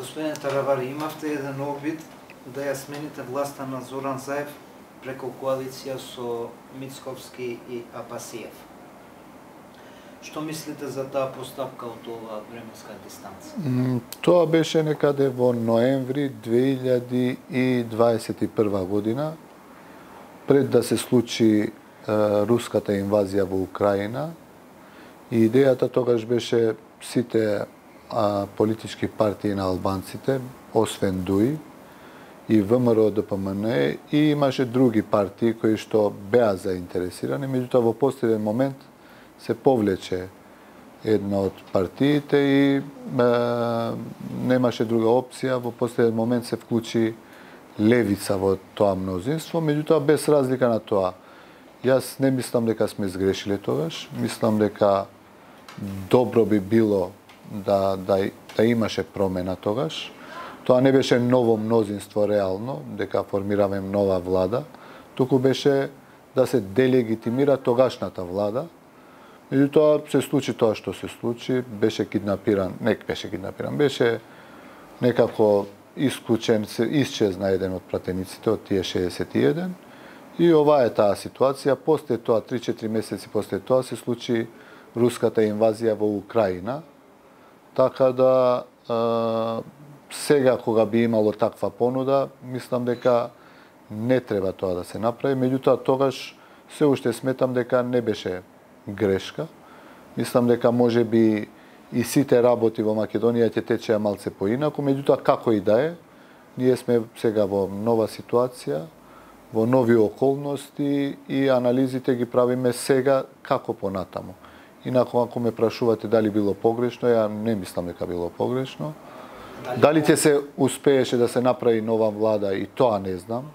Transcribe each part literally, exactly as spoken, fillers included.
Господин Таравари, имавте еден обид да ја смените власта на Зоран Заев преку коалиција со Мицковски и Апасиев. Што мислите за таа постапка од оваа временска дистанца? Тоа беше некаде во ноември две илјади и дваесет и прва година, пред да се случи е, руската инвазија во Украина. И идејата тогаш беше сите а, политички партии на албанците, освен ДУИ и ВМРО ДПМН, и имаше други партии кои што беа заинтересирани, меѓутоа во последен момент се повлече една од партиите и е, немаше друга опција. Во последен момент се вклучи левица во тоа мнозинство, меѓутоа без разлика на тоа. Јас не мислам дека сме сгрешиле тогаш, мислам дека добро би било да, да, да имаше промена тогаш. Тоа не беше ново мнозинство реално, дека формираме нова влада, туку беше да се делегитимира тогашната влада. Меѓутоа се случи тоа што се случи, беше киднапиран, не беше киднапиран, беше некако исклучен, се исчезна еден од пратениците од тие шеесет и еден. И ова е таа ситуација. После тоа, три-четири месеци после тоа, се случи руската инвазија во Украина. Така да е, сега кога би имало таква понуда, мислам дека не треба тоа да се направи. Меѓутоа тогаш се уште сметам дека не беше грешка. Мислам дека може би и сите работи во Македонија ќе течеа малце поинаку, меѓутоа како и да е, ние сме сега во нова ситуација, во нови околности и анализите ги правиме сега како понатаму. Инаку ако ме прашувате дали било погрешно, ја не мислам дека било погрешно. Дали, дали ќе се успееше да се направи нова влада, и тоа не знам.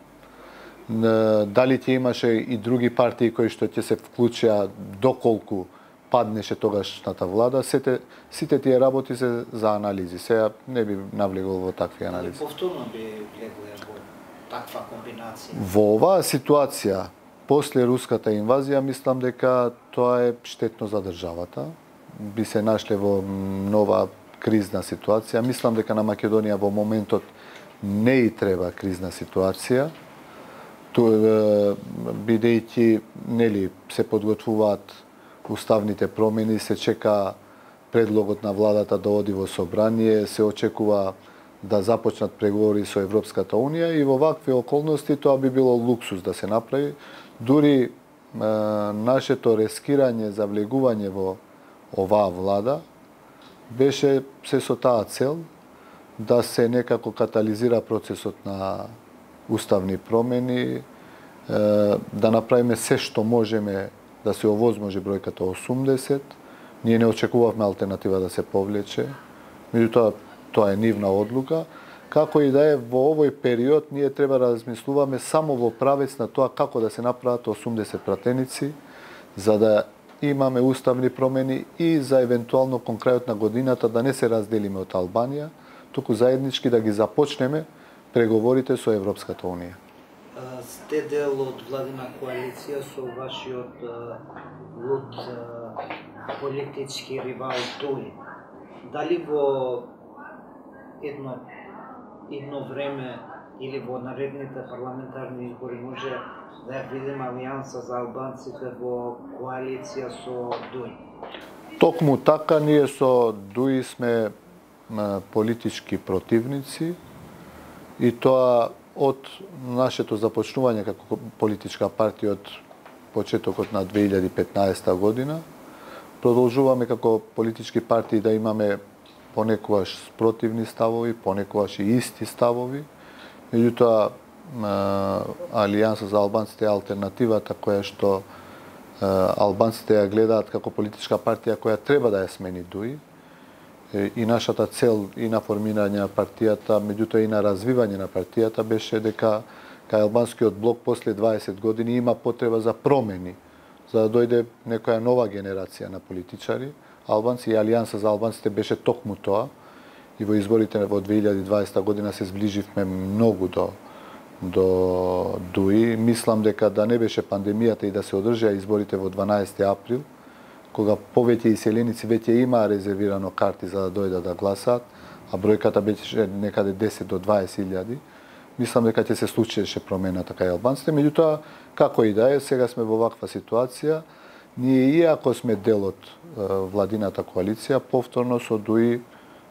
Дали ќе имаше и други партии кои што ќе се вклучеа доколку паднеше тогашната влада, сите, сите тие работи се за анализи. Сега не би навлегол во такви анализи. Повторно би влегле во таква комбинација? Во оваа ситуација, после руската инвазија, мислам дека тоа е штетно за државата. Би се нашле во нова кризна ситуација. Мислам дека на Македонија во моментот не и треба кризна ситуација, бидејќи нели се подготвуваат уставните промени, се чека предлогот на владата да оди во собрание, се очекува да започнат преговори со Европската унија и во вакви околности тоа би било луксус да се направи. Дури е, нашето рескирање за влегување во оваа влада беше се со таа цел да се некако катализира процесот на уставни промени, да направиме се што можеме да се овозможи бројката осумдесет. Ние не очекувавме алтернатива да се повлече, меѓутоа тоа е нивна одлука. Како и да е, во овој период ние треба да размислуваме само во правец на тоа како да се направат осумдесет пратеници, за да имаме уставни промени и за евентуално кон крајот на годината да не се разделиме од Албанија, туку заеднички да ги започнеме преговорите со Европската унија. Сте дел од владина коалиција со вашиот луд политички ривал ДУИ. Дали во едно едно време или во наредните парламентарни избори може да ја видиме алијанса за албанците во коалиција со ДУИ? Токму така, ние со ДУИ сме политички противници и тоа од нашето започнување како политичка партија од почетокот на две илјади и петнаесета година. Продолжуваме како политички партии да имаме понекогаш спротивни ставови, понекогаш и исти ставови. Меѓутоа, Алијанса за албанците е алтернативата која што албанците ја гледаат како политичка партија која треба да ја смени ДУИ. И нашата цел и на формирање на партијата, меѓутоа и на развивање на партијата беше дека кај албанскиот блок после дваесет години има потреба за промени, за да дојде некоја нова генерација на политичари. Албанци и Алијанса за албанците беше токму тоа. И во изборите во две илјади и дваесета година се зближивме многу до до ДУИ. Мислам дека да не беше пандемијата и да се одржаа изборите во дванаесети април, кога повеќе иселеници веќе имаа резервирано карти за да дојдат да гласаат, а бројката беше некаде десет до дваесет илјади, мислам дека ќе се случише промена така и албанците. Меѓутоа, како и да е, сега сме во ваква ситуација. Ние, иако сме дел од владината коалиција, повторно со ДУИ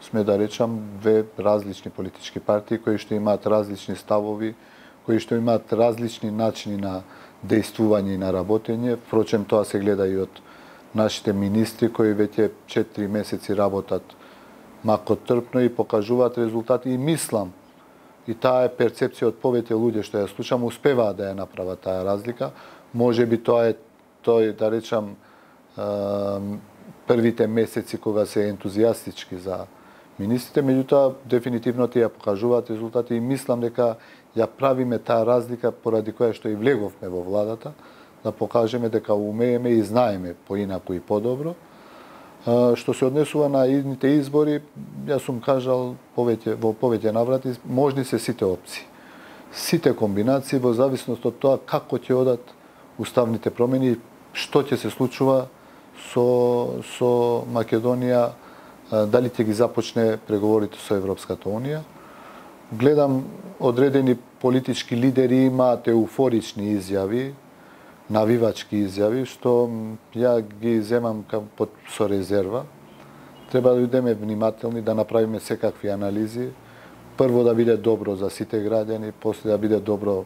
сме, да речам, две различни политички партии кои што имаат различни ставови, кои што имаат различни начини на дејствување и на работење. Впрочем, тоа се гледа и од нашите министри кои веќе четири месеци работат макотрпно и покажуваат резултати, и мислам, и таа е перцепција од повеќе луѓе што ја слушам, успеваат да ја направат таа разлика. Може би тоа е тој, да речам, првите месеци кога се ентузијастички за министрите, меѓутоа дефинитивно тие покажуваат резултати и мислам дека ја правиме таа разлика поради која што и влеговме во владата, да покажеме дека умееме и знаеме поинаку и подобро. Што се однесува на идните избори, јас сум кажал повеќе, во повеќе наврати, можни се сите опции. Сите комбинации во зависност од тоа како ќе одат уставните промени, што ќе се случува со, со Македонија, дали ќе ги започне преговорите со Европската Унија. Гледам, одредени политички лидери имаат еуфорични изјави, навивачки изјави, што ја ги земам под, со резерва. Треба да бидеме внимателни, да направиме секакви анализи. Прво да биде добро за сите граѓани, после да биде добро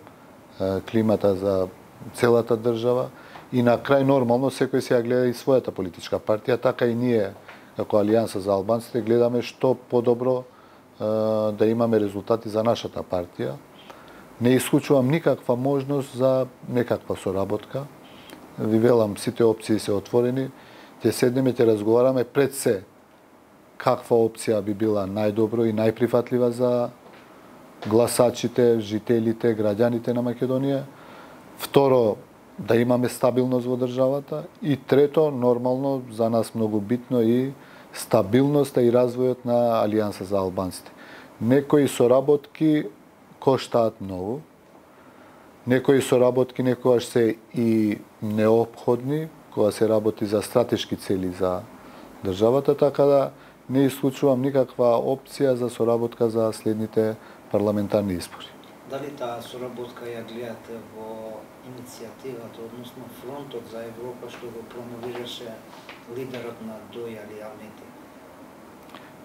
е, климата за целата држава и на крај нормално секој се ја гледа и својата политичка партија, така и ние како Алијанса за албанците гледаме што подобро е, да имаме резултати за нашата партија. Не исклучувам никаква можност за некаква соработка. Ви велам, сите опции се отворени. Ќе седнеме, ќе разговараме пред се каква опција би била најдобро и најприфатлива за гласачите, жителите, граѓаните на Македонија. Второ, да имаме стабилност во државата. И трето, нормално, за нас многу битно и стабилноста и развојот на Алијанса за албанците. Некои соработки коштаат многу. Некои соработки некогаш се и неопходни, кога се работи за стратешки цели за државата, така да не исклучувам никаква опција за соработка за следните парламентарни избори. Дали таа соработка ја гледате во иницијативата, односно Фронтот за Европа, што го промовираше лидерот на ДУИ Али Ахмети?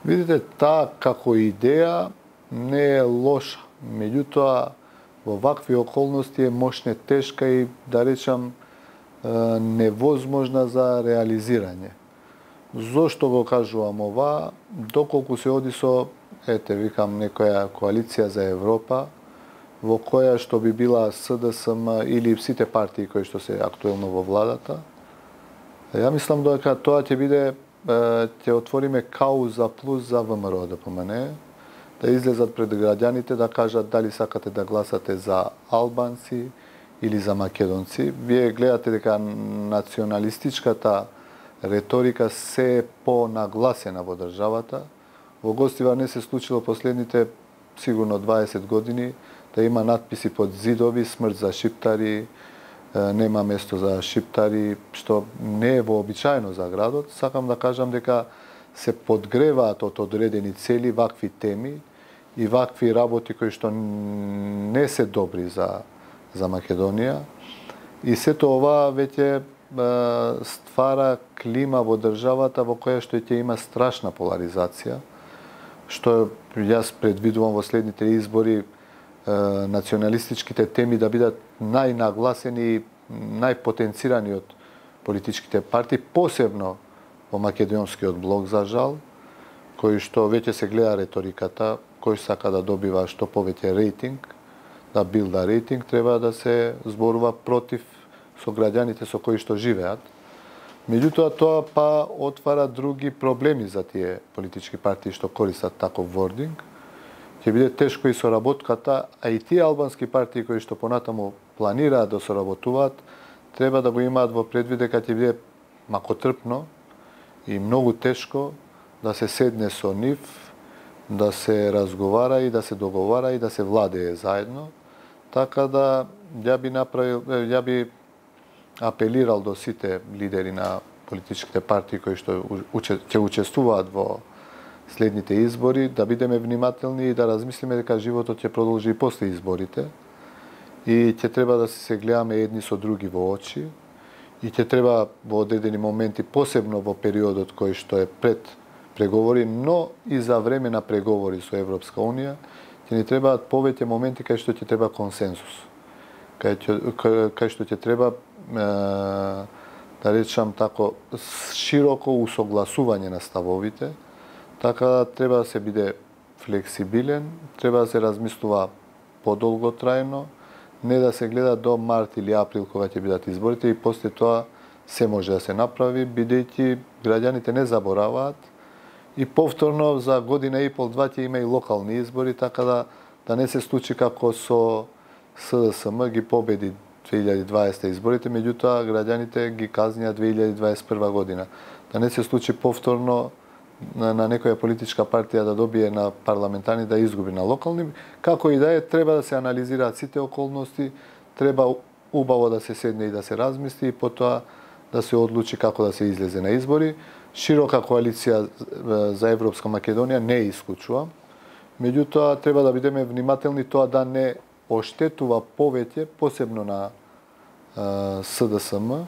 Видите, таа како идеја не е лоша. Меѓутоа, во вакви околности е мошне тешка и, да речам, невозможна за реализирање. Зошто го кажувам ова? Доколку се оди со, ете, викам, некоја коалиција за Европа, во која што би била СДСМ или сите партии кои што се актуелно во владата, ја мислам дека тоа ќе биде, ќе отвориме кауза плюс за ВМРО ДПМН, да излезат пред граѓаните да кажат дали сакате да гласате за албанци или за македонци. Вие гледате дека националистичката реторика се е понагласена во државата. Во Гостивар не се случило последните сигурно дваесет години да има надписи под зидови смрт за шиптари, нема место за шиптари, што не е вообичаено за градот. Сакам да кажам дека се подгреваат од одредени цели вакви теми и вакви работи кои што не се добри за, за Македонија. И сето ова веќе ствара клима во државата во која што ќе има страшна поларизација, што јас предвидувам во следните избори националистичките теми да бидат најнагласени и најпотенцирани од политичките партии, посебно во македонскиот блок, за жал, кој што веќе се гледа реториката, кој сака да добива што повеќе рейтинг, да билда рейтинг, треба да се зборува против со граѓаните со кои што живеат. Меѓутоа, тоа па отвара други проблеми за тие политички партии што користат таков вординг. Ќе биде тешко и соработката, а и тие албански партии кои што понатаму планираат да соработуваат, треба да го имаат во предвид дека ќе биде макотрпно и многу тешко да се седне со нив, да се разговара и да се договара и да се владее заедно. Така да ја би направил, ја би апелирал до сите лидери на политичките партии кои што ќе учествуваат во следните избори, да бидеме внимателни и да размислиме дека животот ќе продолжи и после изборите и ќе треба да се гледаме едни со други во очи и ќе треба во одредени моменти, посебно во периодот кој што е пред преговори, но и за време на преговори со Европска Унија, ќе ни требаат повеќе моменти кај што ќе треба консенсус. Кај, кај што ќе треба, е, да речам тако, широко усогласување на ставовите, така да треба да се биде флексибилен, треба да се размислува подолготрајно, не да се гледа до март или април кога ќе бидат изборите и после тоа се може да се направи, бидејќи граѓаните не забораваат и повторно за година и пол два ќе има и локални избори, така да да не се случи како со СДСМ ги победи две илјади дваесета изборите, меѓутоа граѓаните ги казнија две илјади дваесет и прва година. Да не се случи повторно на, на некоја политичка партија да добие на парламентарни да изгуби на локални, како и да е, треба да се анализираат сите околности, треба убаво да се седне и да се размисли и потоа да се одлучи како да се излезе на избори. Широка коалиција за Европска Македонија не исклучува, меѓутоа треба да бидеме внимателни тоа да не оштетува повеќе, посебно на СДСМ,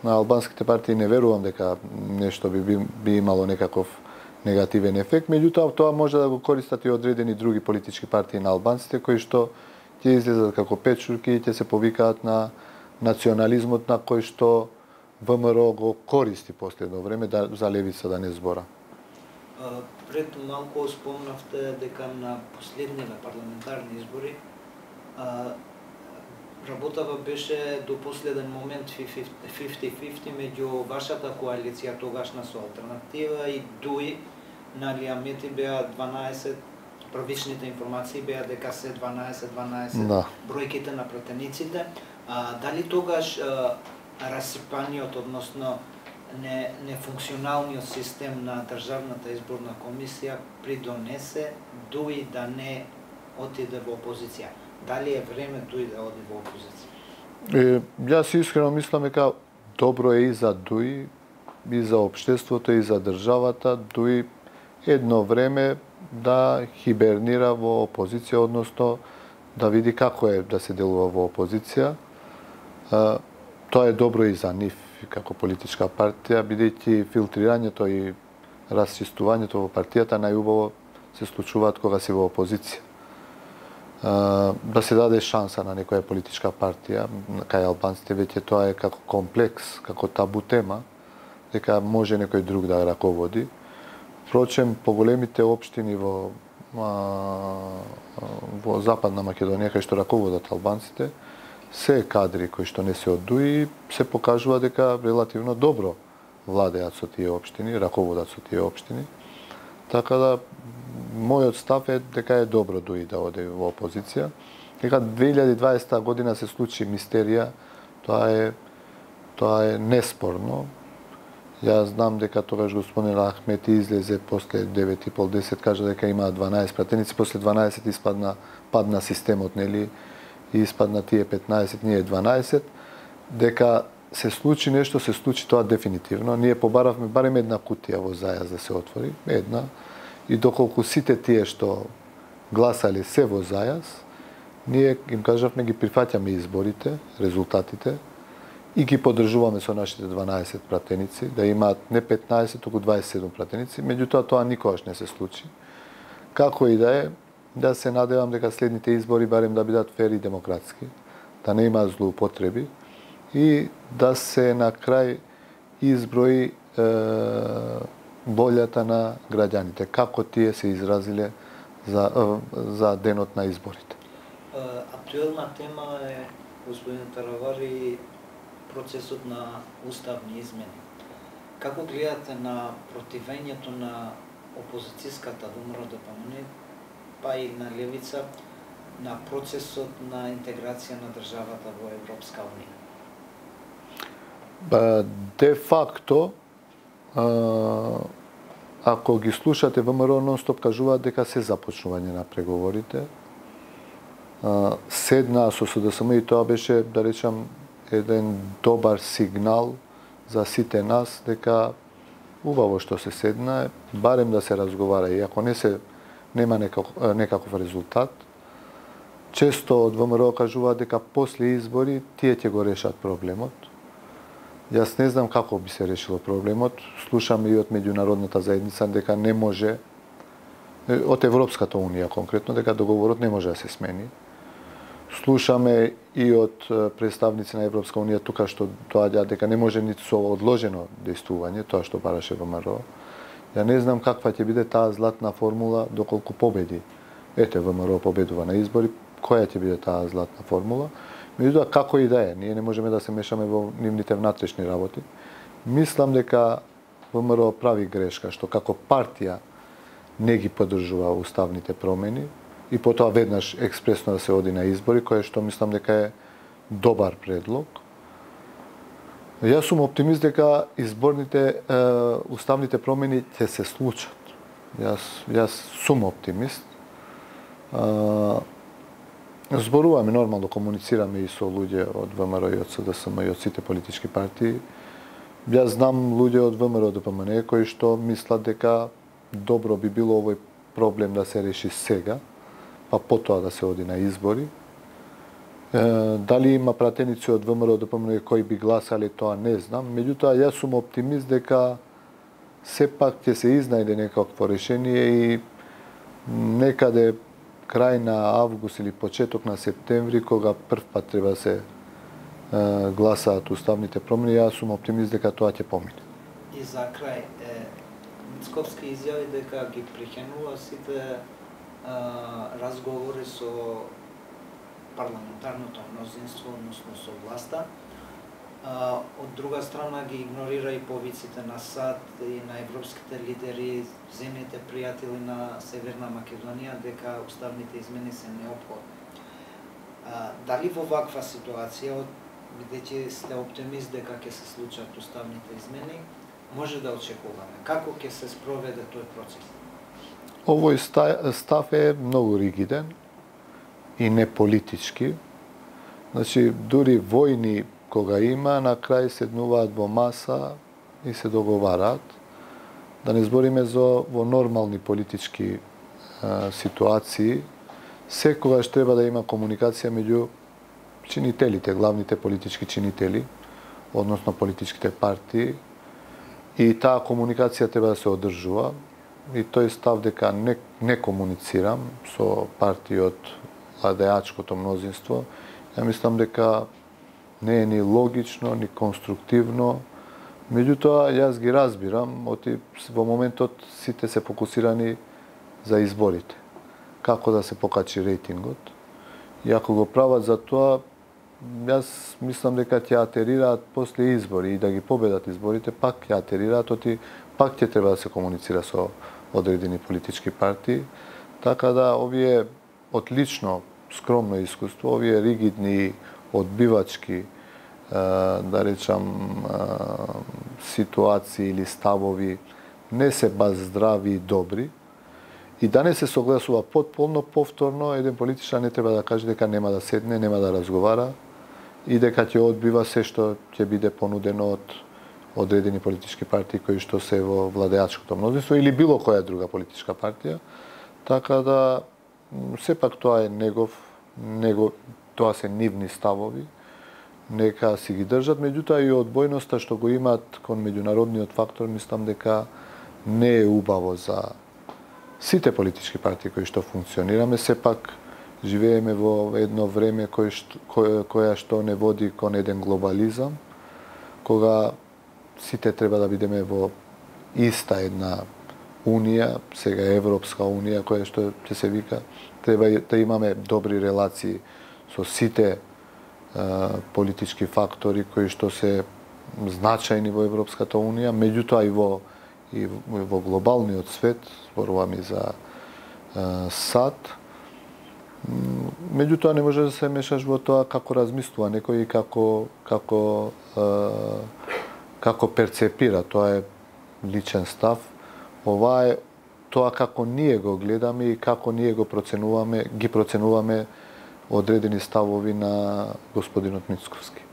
на албанските партии не верувам дека нешто би, би, би имало некаков негативен ефект, меѓутоа тоа може да го користат и одредени други политички партии на албанците кои што ќе излезат како печурки и ќе се повикаат на национализмот на кој што ВМРО го користи последно време да, за левица да не збора. Пред малку спомнавте дека на последниве парламентарни избори работава беше до последен момент фифти фифти меѓу вашата коалиција тогашна со Алтернатива и ДУИ, нали Амети беа дванаесет, првичните информации беа дека се дванаесет дванаесет да. Бројките на пратениците. А, дали тогаш а, расипаниот, односно не, нефункционалниот систем на Државната изборна комисија придонесе ДУИ да не отиде во опозиција? Дали е време ДУИ да оди во опозиција? Е, јас искрено мислам дека добро е и за ДУИ, и за општеството, и за државата, ДУИ едно време да хибернира во опозиција, односно да види како е да се делува во опозиција. А, тоа е добро и за нив како политичка партија, бидејќи филтрирањето и расчистувањето во партијата најубаво се случуваат кога си во опозиција. Да се даде шанса на некоја политичка партија, кај албанците веќе тоа е како комплекс, како табу тема, дека може некој друг да раководи. Впрочем, поголемите општини во, во Западна Македонија, кај што раководат албанците, се кадри кои што не се од ДУИ, се покажува дека релативно добро владеат со тие општини, раководат со тие општини. Така да, мојот став е дека е добро ДУИ да оде во опозиција. Дека две илјади дваесета година се случи мистерија, тоа е тоа е неспорно. Јас знам дека тогаш господин Ахмети излезе после девет и пол десет, кажа дека има дванаесет пратеници, после дванаесет испадна падна системот, нели, и испадна тие петнаесет, ние дванаесет, дека се случи нешто, се случи тоа дефинитивно. Ние побаравме барем една кутија во Зајаз да се отвори, една, и доколку сите тие што гласале се во Зајаз, ние им кажавме ги прифаќаме изборите, резултатите, и ги поддржуваме со нашите дванаесет пратеници, да имаат не петнаесет, туку дваесет и седум пратеници, меѓутоа тоа никогаш не се случи. Како и да е, да се надевам дека следните избори барем да бидат фер и демократски, да не има злоупотреби и да се на крај изброи е, волјата на граѓаните, како тие се изразиле за, за денот на изборите. Актуелна тема е, господин Таравари, процесот на уставни измени. Како гледате на противењето на опозицијската ВМРО Д П М Н, па и на левица, на процесот на интеграција на државата во Европска Унија? Де факто, ако ги слушате, ВМРО нон-стоп кажуваат дека се започнување на преговорите. Седнаа со С Д С М и тоа беше, да речам, еден добар сигнал за сите нас дека убаво што се седна, барем да се разговара, и ако не се нема некаков, некаков резултат, често од ВМРО кажуваат дека после избори тие ќе го решат проблемот. Јас не знам како би се решило проблемот. Слушаме и од меѓународната заедница дека не може, од Европската унија конкретно, дека договорот не може да се смени. Слушаме и од представници на Европска унија тука што доаѓаат дека не може ниту со одложено дејствување, тоа што бараше ВМРО. Ја не знам каква ќе биде таа златна формула доколку победи. Ете, ВМРО победува на избори, која ќе биде таа златна формула? Меѓутоа, како и да е, ние не можеме да се мешаме во нивните внатрешни работи. Мислам дека ВМРО прави грешка што како партија не ги поддржува уставните промени и потоа веднаш експресно да се оди на избори, кое што мислам дека е добар предлог. Јас сум оптимист дека изборните е, уставните промени ќе се случат. Јас јас сум оптимист. Е, Зборуваме нормално, комуницираме и со луѓе од ВМРО и од СДСМ и од сите политички партии. Јас знам луѓе од ВМРО ДПМН кои што мислат дека добро би било овој проблем да се реши сега, па потоа да се оди на избори. Е, дали има пратеници од ВМРО ДПМН кои би гласале, тоа не знам. Меѓутоа, јас сум оптимист дека сепак ќе се изнајде некакво решение и некаде крај на август или почеток на септември, кога прв пат треба да се е, гласаат уставните промени, јас сум оптимист дека тоа ќе помине. И за крај, е, Мицковски изјави дека ги прихенува сите е, разговори со парламентарното мнозинство, односно со власта. А, од друга страна ги игнорира и повиците на САД и на европските лидери, земјите пријатели на Северна Македонија, дека уставните измени се неопходни. А, дали во ваква ситуација, бидејќи сте оптимист дека ќе се случат уставните измени, може да очекуваме? Како ќе се спроведе тој процес? Овој став е многу ригиден и не политички. Значи, дури војни кога има, на крај седнуваат во маса и се договараат. Да не збориме за во нормални политички е, ситуации, секогаш треба да има комуникација меѓу чинителите, главните политички чинители, односно политичките партии, и таа комуникација треба да се одржува. И тој став дека не, не комуницирам со партии од владеачкото мнозинство, ја мислам дека не е ни логично, ни конструктивно. Меѓутоа, јас ги разбирам, оти во моментот сите се фокусирани за изборите. Како да се покачи рейтингот. И ако го прават за тоа, јас мислам дека ќе атерираат после избори и да ги победат изборите, пак ќе атерираат, оти пак ќе треба да се комуницира со одредени политички партии. Така да, овие од лично скромно искуство, овие ригидни, одбивачки, да речам, ситуации или ставови не се баш здрави и добри. И да не се согласува потполно, повторно, еден политичар не треба да каже дека нема да седне, нема да разговара и дека ќе одбива се што ќе биде понудено од одредени политички партии кои што се во владеачкото мнозинство или било која друга политичка партија. Така да, сепак тоа е негов, негов тоа се нивни ставови, нека си ги држат, меѓутоа и одбојноста што го имаат кон меѓународниот фактор, мислам дека не е убаво за сите политички партии кои што функционираме. Сепак живееме во едно време кој што, кој, која што не води кон еден глобализам, кога сите треба да бидеме во иста една унија, сега Европска унија, која што ќе се вика, треба да имаме добри релации со сите политички фактори кои што се значајни во Европската унија, меѓутоа и во и во глобалниот свет, зборуваме за САД. Меѓутоа не може да се мешаш во тоа како размислува некој и како како како перцепира, тоа е личен став. Ова е тоа како ние го гледаме и како ние го проценуваме, ги проценуваме одредени ставови на господинот Мицковски.